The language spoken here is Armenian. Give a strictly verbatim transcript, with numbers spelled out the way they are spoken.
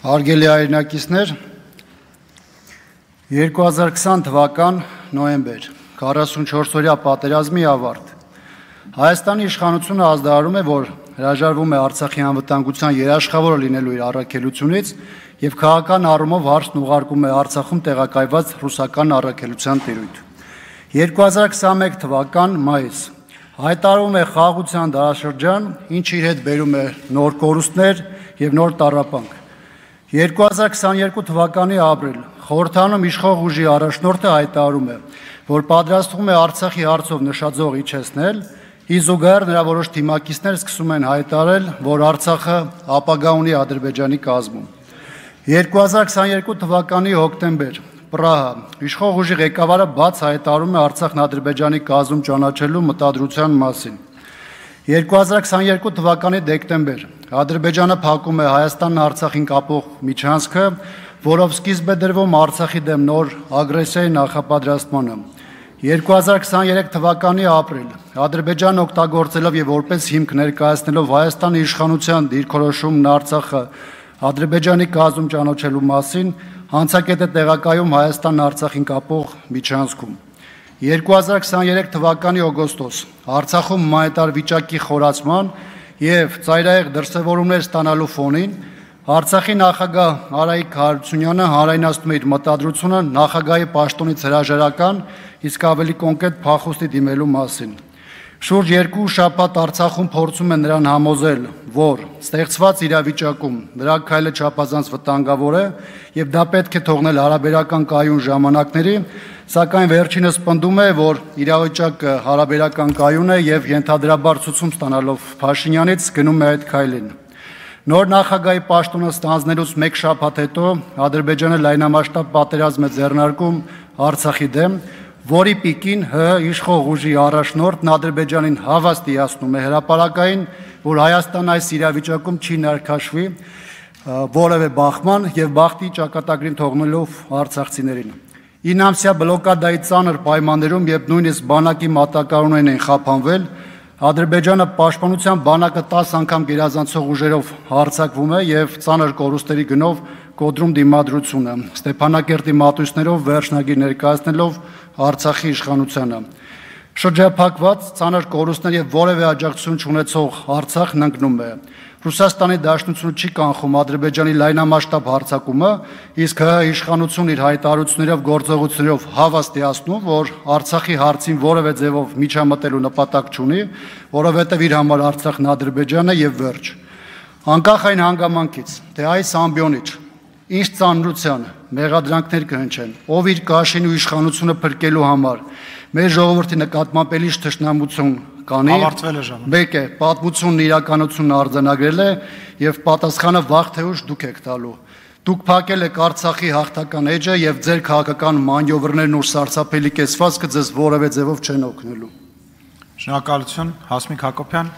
Հարգելի հայրենակիցներ, երկու հազար քսան թվական նոյեմբեր, քառասունչորս-օրյա պատերազմի ավարտ։ Հայաստանի իշխանությունը ազդարարում է, որ հրաժարվում է Արցախի անվտանգության երաշխավորը լինելու իր առաքելությունից եւ քաղաքական առումով հարցն ուղարկում է Արցախում տեղակայված ռուսական առաքելության տիրույթ։ երկու հազար քսանմեկ թվական մայիս հայտարարում է խաղաղության դարաշրջան, ինչը իր հետ բերում է նոր կորուստներ եւ նոր տառապանք։ երկու հազար քսաներկու թվականի ապրիլ խորհրդանում իշխող ուժի առաջնորդը հայտարարում է, որ պատրաստվում է Արցախի հարցով նշաձող իջեցնել, ի զուգահեռ նրա որոշ թիմակիցներ սկսում են հայտարարել, որ Արցախը ապագա ունի Ադրբեջանի կազմում։ երկու հազար քսաներկու թվականի հոկտեմբեր Պրահա իշխող ուժի ղեկավարը բաց հայտարարում է Արցախն Ադրբեջանի կազմում ճանաչելու մտադրության մասին։ երկու հազար քսաներկու թվականի դեկտեմբեր Ադրբեջանը փակում է Հայաստանն Արցախին կապող միջանցքը, որով սկիզբ է դրվում Արցախի դեմ նոր ագրեսիայի նախապատրաստմանը։ երկու հազար քսաներեք թվականի ապրիլ Ադրբեջանը օգտագործելով եւ որպես հիմք ներկայացնելով Հայաստանի իշխանության դիրքորոշումն Արցախը Ադրբեջանի կազմում ճանաչելու մասին հանցակետ է տեղակայում Հայաստանն Արցախին կապող միջանցքում։ երկու հազար քսաներեք թվականի օգոստոս Արցախում հումանիտար վիճակի խորացման եւ ծայրահեղ դրսևորումներ ստանալու ֆոնին Արցախի նախագահ Արայիկ Հարությունյանը հանրայնացնում է իր մտադրությունը նախագահի պաշտոնից հրաժարական, իսկ ավելի կոնկրետ փախուստի դիմելու մասին։ Շուրջ երկու շաբաթ Արցախում փորձում են նրան համոզել, որ ստեղծված իրավիճակում նրա քայլը չափազանց վտանգավոր է եւ դա պետք է թողնել հարաբերական կայուն ժամանակների, սակայն վերջինս պնդում է, որ իրավիճակը հարաբերական կայուն է եւ ենթադրաբար ցուցում ստանալով Փաշինյանից գնում է այդ քայլին։ Նոր նախագահի պաշտոնը ստանձնելուց մեկ շաբաթ հետո Ադրբեջանը լայնամասշտաբ պատերազմ է ձեռնարկում Արցախի դեմ, որի պիկին ՀՀ իշխող ուժի առաջնորդն Ադրբեջանին հավաստիացնում է հրապարակային, որ Հայաստանն այս իրավիճակում չի ներքաշվի որևէ բախման եւ բախտի ճակատագրին թողնելով արցախցիներին։ Ինամսյա բլոկադայի ծանր պայմաններում, երբ նույնիսկ բանակի մատակարարներն են խափանվել, Ադրբեջանը պաշտպանության բանակը տասը անգամ գերազանցող ուժերով հարձակվում է եւ ծանր կորուստերի գնով կոտրում դիմադրությունը, Ստեփանակերտի մատույցներով վերջնագիր ներկայացնելով Արցախի իշխանությանը։ Շրջափակված ծանր կորուստներ եւ որևէ աջակցություն չունեցող Արցախն ընկնում է։ Ռուսաստանի Դաշնությունը չի կանխում Ադրբեջանի լայնամասշտաբ հարձակումը, իսկ ՀՀ իշխանությունն իր հայտարարություններով գործողություններով հավաստիացնում, որ Արցախի հարցին որևէ ձևով միջամտելու նպատակ չունի, որովհետև իր համար Արցախն Ադրբեջանը եւ վերջ։ Անկախ այն հանգամանքից, թե այս ամբիոնիչ ինչ ծանրության մեղադրանքներ կհնչեն, ով իր կաշին ու իշխանությունը փրկելու համար մեր ժողովրդի նկատմամբ էլի թշնամություն կանի, մեկ է պատմությունն իրականությունն արձանագրել է եւ պատասխանը վաղ թե ուշ դուք եք տալու։ Դուք փակել եք Արցախի հաղթական էջը եւ ձեր քաղաքական մանյովրներն ու սարսափելի կեցվածքը ձեզ որևէ ձևով չեն օգնելու։ Շնորհակալություն, Հասմիկ Հակոբյան։